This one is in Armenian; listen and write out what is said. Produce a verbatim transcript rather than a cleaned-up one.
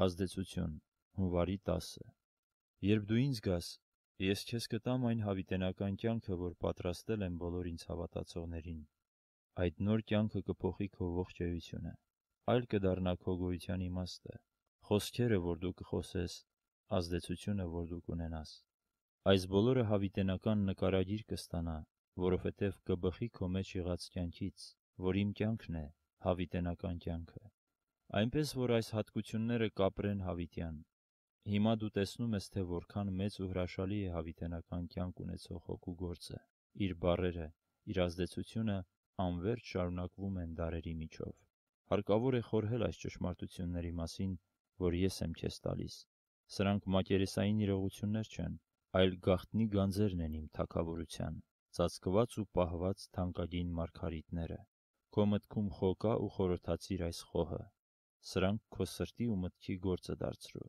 Ազդեցություն հունվարի տասը Երբ դու ինձ գաս, ես քեզ կտամ այն հավիտենական կյանքը, որ պատրաստել եմ բոլոր ինձ հավատացողներին։ Այդ նոր կյանքը կփոխի քո ողջ էությունը, այլ կդառնա քո գոյության իմաստը, խոսքերը, որ դու կխոսես, ազդեցությունը, որ դու կունենաս։ Այս բոլորը հավիտենական նկարագիր կստանա, որովհետև կբխի քո մեջ եղած կյանքից, որ իմ կյանքն է, հավիտենական կյանքը։ Այնպես որ այս հատկությունները կապրեն հավիտյան։ Հիմա դու տեսնում ես, թե որքան մեծ ու հրաշալի է հավիտենական կյանք ունեցող Հոգու գործը, իր բառերը, իր ազդեցությունը անվերջ շարունակվում են դարերի միջով։ Հարկավոր է խորհել այս ճշմարտությունների մասին, որ ես եմ քեզ տալիս։ Սրանք մակերեսային իրողություններ չեն, այլ գաղտնի գանձերն են իմ թագավորության, ծածկված ու պահված թանկագին մարգարիտները։ Քո մտքում խո կա ու խորհրդացիր այս խոհը։ Սրանք քո սրտի ու մտքի գործը դարձրու։